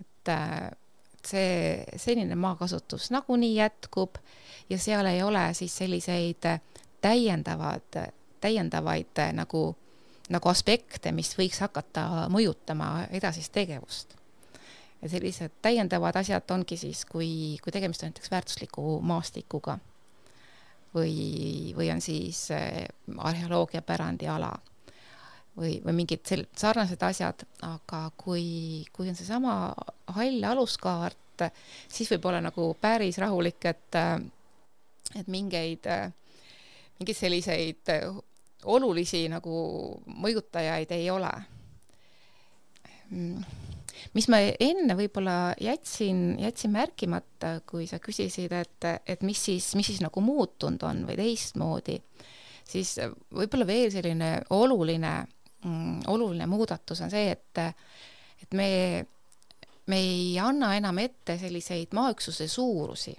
Et see senine maakasutus nagunii jätkub ja seal ei ole siis selliseid täiendavaid nagu aspekte, mis võiks hakata mõjutama edasist tegevust. Ja sellised täiendavad asjad ongi siis, kui tegemist on näiteks väärtusliku maastikuga või on siis arheoloogiapärandi ala või mingid sarnased asjad, aga kui on seesama hall aluskaart, siis võib olla nagu päris rahulik, et mingeid selliseid olulisi nagu mõjutajaid ei ole. Mis ma enne võib-olla jätsin märkimata, kui sa küsisid, et mis siis nagu muutunud on või teistmoodi, siis võib-olla veel selline oluline muudatus on see, et me ei anna enam ette selliseid maaüksuse suurusi.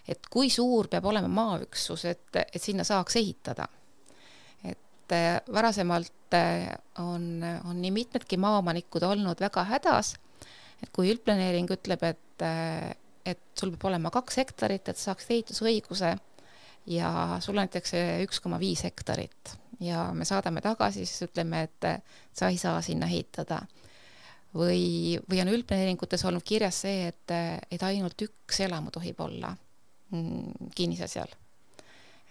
Et kui suur peab olema maaüksus, et sinna saaks ehitada. Et varasemalt on nii mitmedki maaomanikud olnud väga hädas, et kui üldplaneering ütleb, et sul peab olema 2 hektarit, et saaks ehitusõiguse ja sul näitakse 1,5 hektarit. Ja me saadame tagasi, siis ütleme, et sa ei saa sinna ehitada. Või on üldplaneeringutes olnud kirjas see, et ainult 1 elamu tohib olla kinnise seal.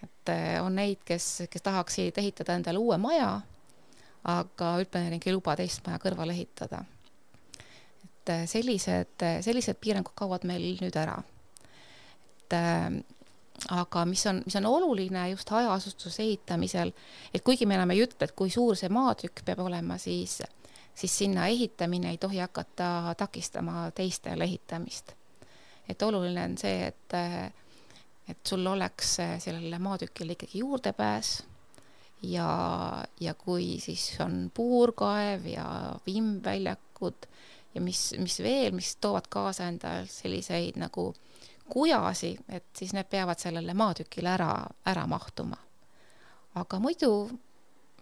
Et on neid, kes tahaksid ehitada endale uue maja, aga üldplaneering ei luba teist maja kõrval ehitada. Et sellised piirangud kaovad meil nüüd ära. Aga mis on oluline just hajaasustuse ehitamisel, et kuigi me enam ei ütle, et kui suur see maatükk peab olema, siis sinna ehitamine ei tohi hakata takistama teistel ehitamist. Et oluline on see, et sul oleks sellele maatükile ikkagi juurdepääs ja kui siis on puurkaev ja vimbväljakud ja mis veel, mis toovad kaasa endal selliseid nagu kujasi, et siis need peavad sellele maatükile ära mahtuma. aga muidu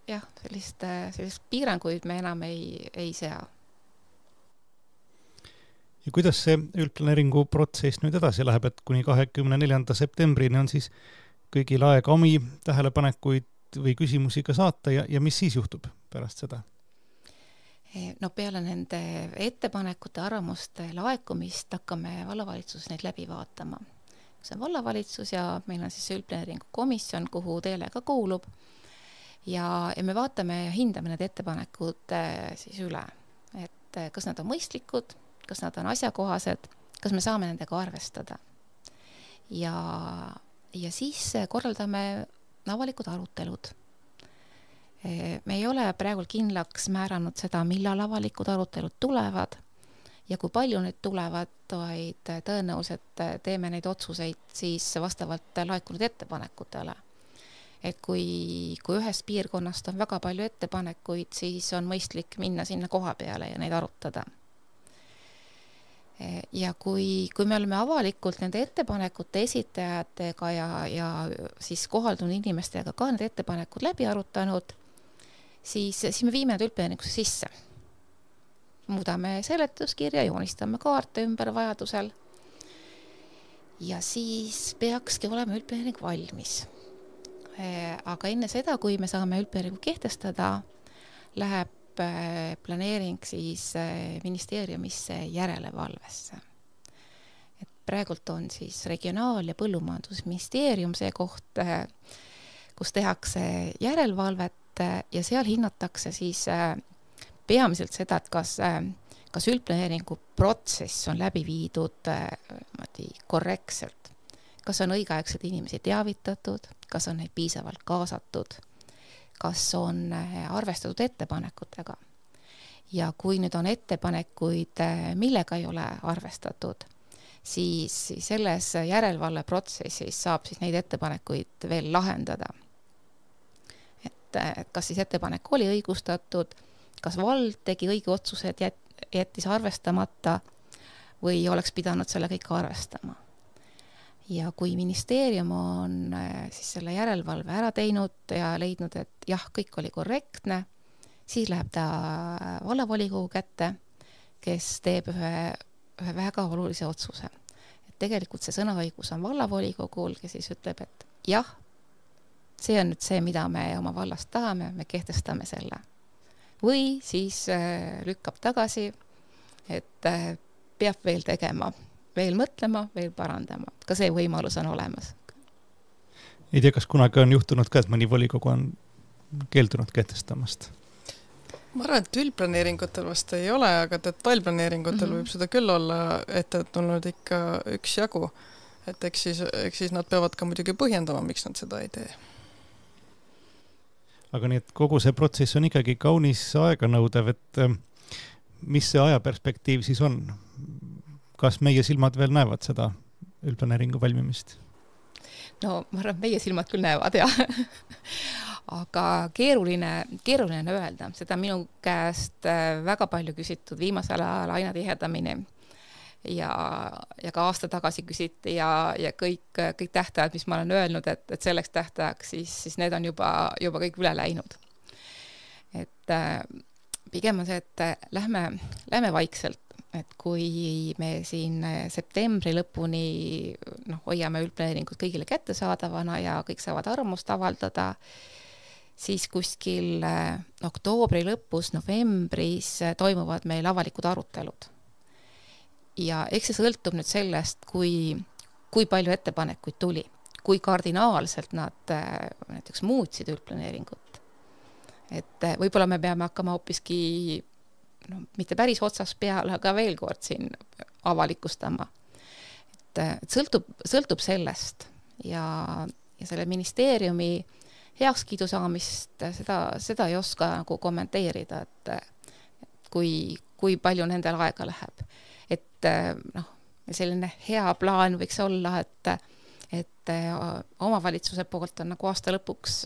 jah, sellist piiranguid me enam ei sea. Ja kuidas see üldplaneeringu protsess nüüd edasi läheb, et kuni 24. septembrini on siis kõigil aega omi tähelepanekuid või küsimusi ka saata ja mis siis juhtub pärast seda? No peale nende ettepanekute, arvamuste laekumist hakkame vallavalitsuses neid läbi vaatama. See on vallavalitsus ja meil on siis üldplaneeringu komisjon, kuhu teile ka kuulub. Ja me vaatame ja hindame need ettepanekud siis üle, et kas nad on mõistlikud, kas nad on asjakohased, kas me saame nendega arvestada. Ja siis korraldame avalikud arutelud. Me ei ole praegu kindlaks määranud seda, millal avalikud arutelud tulevad ja kui palju need tulevad, vaid tõenäoliselt teeme neid otsuseid siis vastavalt laekunud ettepanekutele. Et kui ühest piirkonnast on väga palju ettepanekuid, siis on mõistlik minna sinna koha peale ja neid arutada. Ja kui me oleme avalikult nende ettepanekute esitajatega ja siis kohaldunud inimestega ka need ettepanekud läbi arutanud, siis me viime need üldplaneeringusse sisse. Muudame seletuskirja, joonistame kaarte ümber vajadusel ja siis peakski olema üldplaneering valmis. Aga enne seda, kui me saame üldplaneeringu kehtestada, läheb planeering siis ministeeriumisse järelevalvesse. Et praegult on siis Regionaal- ja Põllumajandusministeerium see koht, kus tehakse järelevalvet ja seal hinnatakse siis peamiselt seda, et kas üldplaneeringu protsess on läbi viidud korrektselt, kas on õigeaegselt inimesi teavitatud, kas on neid piisavalt kaasatud, kas on arvestatud ettepanekutega. Ja kui nüüd on ettepanekuid, millega ei ole arvestatud, siis selles järelevalveprotsessis saab siis neid ettepanekuid veel lahendada. Et kas siis ettepanek oli õigustatud, kas vald tegi õige otsuse, et jättis arvestamata või oleks pidanud selle kõik arvestama. Ja kui ministeerium on siis selle järelevalve ära teinud ja leidnud, et jah, kõik oli korrektne, siis läheb ta vallavolikogu kätte, kes teeb ühe väga olulise otsuse. Et tegelikult see sõnaõigus on vallavolikogul, kes siis ütleb, et jah, see on nüüd see, mida me oma vallast tahame, me kehtestame selle. Või siis lükkab tagasi, et peab veel tegema, veel mõtlema, veel parandama. Ka see võimalus on olemas. Ei tea, kas kunagi on juhtunud ka, et mõni volikogu on keeldunud kehtestamast? Ma arvan, et üldplaneeringutel vast ei ole, aga detailplaneeringutel võib seda küll olla, et tulnud ikka üks jagu. Et eks siis nad peavad ka muidugi põhjendama, miks nad seda ei tee. Aga nii, et kogu see protsess on ikkagi kaunis aeganõudev, et mis see ajaperspektiiv siis on? Kas meie silmad veel näevad seda üldplaneeringu valmimist? No ma arvan, meie silmad küll näevad, jah. Aga keeruline öelda. Seda minu käest väga palju küsitud viimasel ajal aina tihedamini. Ja ka aasta tagasi küsiti ja kõik tähtajad, mis ma olen öelnud, et selleks tähtajaks, siis need on juba kõik üle läinud. Et pigem on see, et lähme vaikselt. Et kui me siin septembri lõpuni hoiame üldplaneeringut kõigile kättesaadavana ja kõik saavad arvamust avaldada, siis kuskil oktoobri lõpus, novembris toimuvad meil avalikud arutelud. Ja eks see sõltub nüüd sellest, kui palju ettepanekuid tuli, kui kardinaalselt nad näiteks muutsid üldplaneeringut. Et võib-olla me peame hakkama hoopiski mitte päris otsas peale, aga veel kord siin avalikustama. Et sõltub sellest ja selle ministeeriumi heakskiidu saamist seda ei oska nagu kommenteerida, et kui palju nendel aega läheb. Et selline hea plaan võiks olla, et omavalitsuse poolt on nagu aasta lõpuks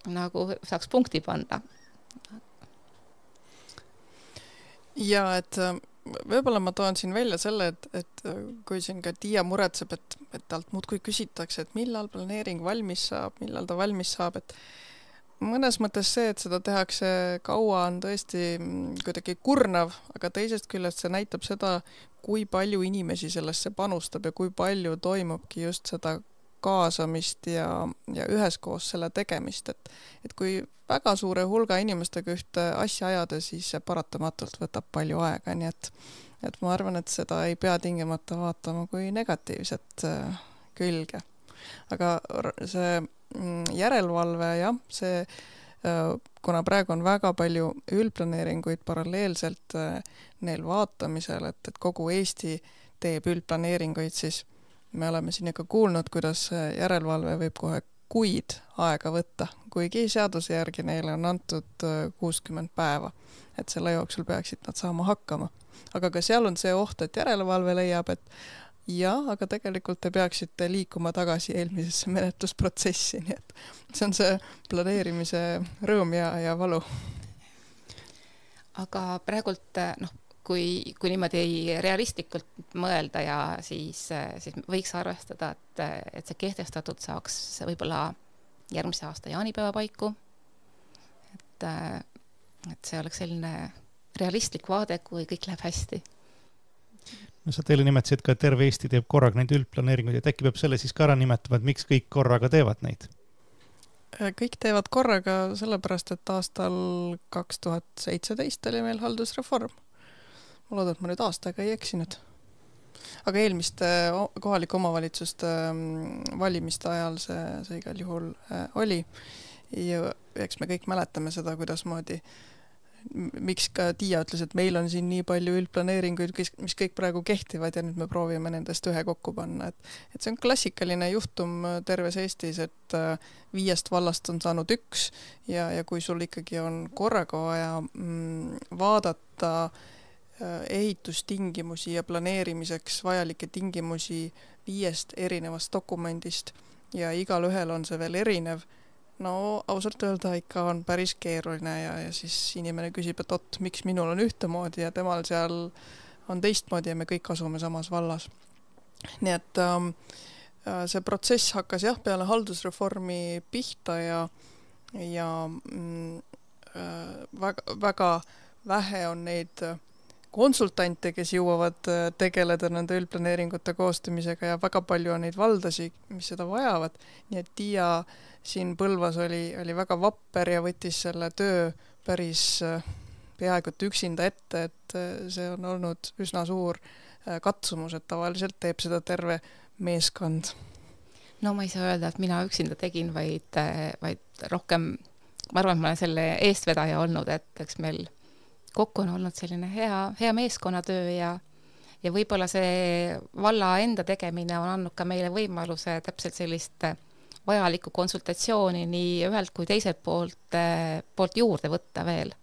nagu saaks punkti panna. Ja, et võib-olla ma toon siin välja selle, et kui siin ka Tiia muretseb, et talt muudkui küsitakse, et millal planeering valmis saab, millal ta valmis saab, et mõnes mõttes see, et seda tehakse kaua, on tõesti kuidagi kurnav, aga teisest küljest see näitab seda, kui palju inimesi sellesse panustab ja kui palju toimubki just seda kaasamist ja üheskoos selle tegemist, et kui väga suure hulga inimestega ühte asja ajada, siis see paratamatult võtab palju aega, nii et ma arvan, et seda ei pea tingimata vaatama kui negatiivset külge. Aga see järelevalve, jah, see, kuna praegu on väga palju üldplaneeringuid paralleelselt neil vaatamisel, et kogu Eesti teeb üldplaneeringuid, siis me oleme siin ikka kuulnud, kuidas järelevalve võib kohe kuid aega võtta, kuigi seaduse järgi neile on antud 60 päeva, et selle jooksul peaksid nad saama hakkama. Aga ka seal on see oht, et järelevalve leiab, et jah, aga tegelikult te peaksite liikuma tagasi eelmisesse menetlusprotsessi, nii et see on see planeerimise rõõm ja valu. Aga praegult, kui niimoodi realistlikult mõelda ja siis võiks arvestada, et see kehtestatud saaks võib-olla järgmise aasta jaanipäeva paiku. Et see oleks selline realistlik vaade, kui kõik läheb hästi. No sa teile nimetasid ka, et terve Eesti teeb korraga neid üldplaneeringuid, et äkki peab selle siis ka ära nimetama, et miks kõik korraga teevad neid? Kõik teevad korraga sellepärast, et aastal 2017 oli meil haldusreform. Ma loodan, et ma nüüd aastaga ei eksinud. Aga eelmiste kohalike omavalitsuste valimiste ajal see igal juhul oli. Ja eks me kõik mäletame seda, kuidas moodi, miks ka Tiia ütles, et meil on siin nii palju üldplaneeringuid, mis kõik praegu kehtivad ja nüüd me proovime nendest ühe kokku panna. Et see on klassikaline juhtum terves Eestis, et 5 vallast on saanud 1 ja kui sul ikkagi on korraga vaja vaadata ehitustingimusi ja planeerimiseks vajalikke tingimusi 5 erinevast dokumendist ja igal ühel on see veel erinev. No ausalt öelda ikka on päris keeruline ja siis inimene küsib, et miks minul on ühtemoodi ja temal seal on teistmoodi ja me kõik asume samas vallas. Nii et see protsess hakkas peale haldusreformi pihta ja väga vähe on neid konsultante, kes jõuavad tegeleda nende üldplaneeringute koostamisega ja väga palju on neid valdasi, mis seda vajavad. Nii et Tiia siin Põlvas oli väga vapper ja võttis selle töö päris peaaegu üksinda ette, et see on olnud üsna suur katsumus, et tavaliselt teeb seda terve meeskond. No ma ei saa öelda, et mina üksinda tegin, vaid rohkem, ma arvan, et ma olen selle eestvedaja olnud, et eks meil kokku on olnud selline hea meeskonnatöö ja võib-olla see valla enda tegemine on andnud ka meile võimaluse täpselt sellist vajalikku konsultatsiooni nii ühelt kui teiselt poolt juurde võtta veel.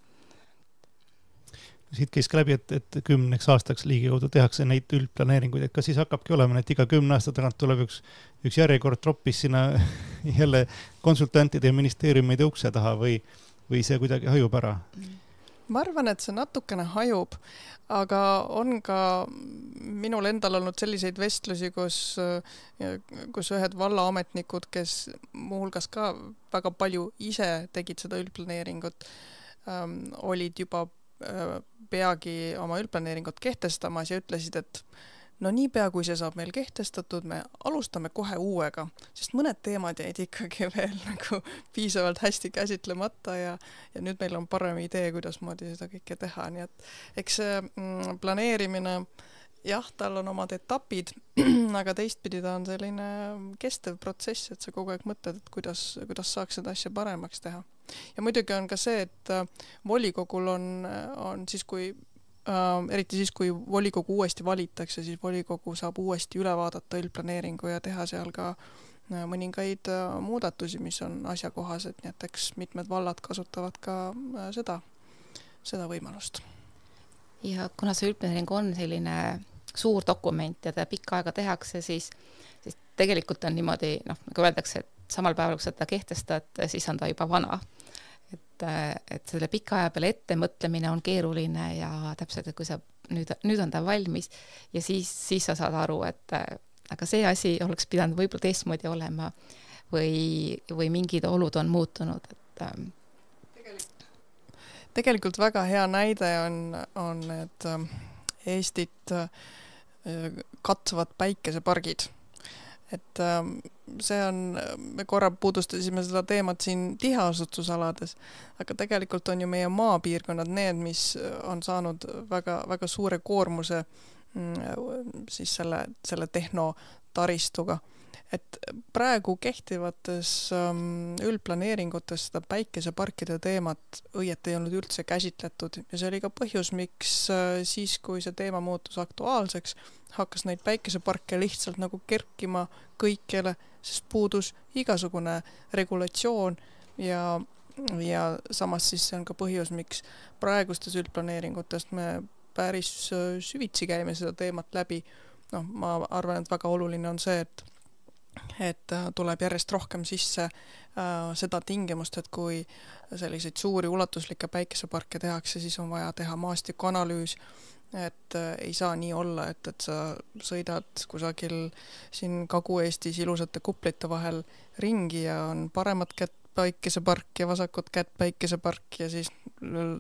Siit käis ka läbi, et 10 aastaks ligikaudu tehakse neid üldplaneeringuid, et kas siis hakkabki olema, et iga 10 aasta tagant tuleb üks järjekord troppis sinna jälle konsultantide ja ministeeriumide ukse taha või see kuidagi hajub ära? Ma arvan, et see natukene hajub, aga on ka minul endal olnud selliseid vestlusi, kus ühed vallaametnikud, kes muuhulgas ka väga palju ise tegid seda üldplaneeringut, olid juba peagi oma üldplaneeringut kehtestamas ja ütlesid, et no niipea, kui see saab meil kehtestatud, me alustame kohe uuega, sest mõned teemad jäid ikkagi veel nagu piisavalt hästi käsitlemata ja nüüd meil on parem idee, kuidas moodi seda kõike teha. Nii et eks see planeerimine, jah, tal on omad etapid, aga teistpidi ta on selline kestev protsess, et sa kogu aeg mõtled, et kuidas saaks seda asja paremaks teha. Ja muidugi on ka see, et volikogul on siis, eriti siis, kui volikogu uuesti valitakse, siis volikogu saab uuesti üle vaadata üldplaneeringu ja teha seal ka mõningaid muudatusi, mis on asjakohased, nii et eks mitmed vallad kasutavad ka seda võimalust. Ja kuna see üldplaneering on selline suur dokument ja ta pikka aega tehakse, siis tegelikult on niimoodi, nagu öeldakse, et samal päeval, kui seda kehtestad, siis on ta juba vana. et selle pika aja peale ette mõtlemine on keeruline ja täpselt, et kui sa nüüd on ta valmis ja siis sa saad aru, et aga see asi oleks pidanud võib-olla teistmoodi olema või mingid olud on muutunud, et tegelikult väga hea näide on need Eestit katvad päikesepargid. Et see on, me korra puudustasime seda teemat siin tiheasustusalades, aga tegelikult on ju meie maapiirkonnad need, mis on saanud väga, väga suure koormuse siis selle tehnotaristuga. Et praegu kehtivates üldplaneeringutes seda päikeseparkide teemat õieti ei olnud üldse käsitletud ja see oli ka põhjus, miks siis, kui see teema muutus aktuaalseks, hakkas neid päikeseparke lihtsalt nagu kerkima kõikjale, sest puudus igasugune regulatsioon ja samas siis see on ka põhjus, miks praegustes üldplaneeringutest me päris süvitsi käime seda teemat läbi. Ma arvan, et väga oluline on see, et tuleb järjest rohkem sisse seda tingimust, et kui selliseid suuri ulatuslikke päikeseparke tehakse, siis on vaja teha maastikuanalüüs, et ei saa nii olla, et sa sõidad kusagil siin Kagu-Eestis ilusate kuplite vahel ringi ja on paremat kätt päikesepark ja vasakut kätt päikesepark ja siis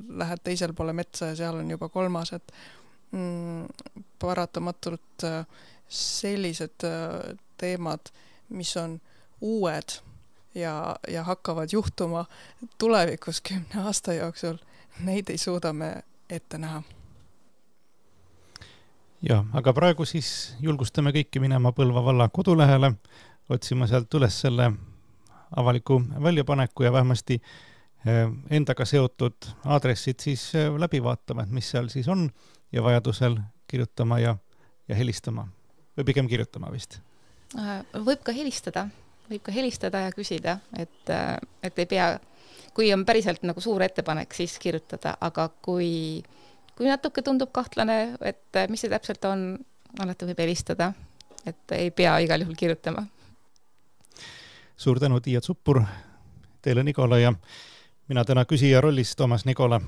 lähed teisel poole metsa ja seal on juba kolmas, et paratamatult sellised teemad, mis on uued ja hakkavad juhtuma tulevikus 10 aasta jooksul, neid ei suuda me ette näha. Ja, aga praegu siis julgustame kõiki minema Põlva valla kodulehele, otsima sealt üles selle avaliku väljapaneku ja vähemasti endaga seotud aadressid siis läbi vaatama, et mis seal siis on ja vajadusel kirjutama ja helistama või pigem kirjutama vist. Võib ka helistada ja küsida, et ei pea, kui on päriselt nagu suur ettepanek, siis kirjutada, aga kui natuke tundub kahtlane, et mis see täpselt on, alati võib helistada, et ei pea igal juhul kirjutama. Suur tänu, Tiia Zuppur, teile Nikola ja mina täna küsija rollis Toomas Nikola.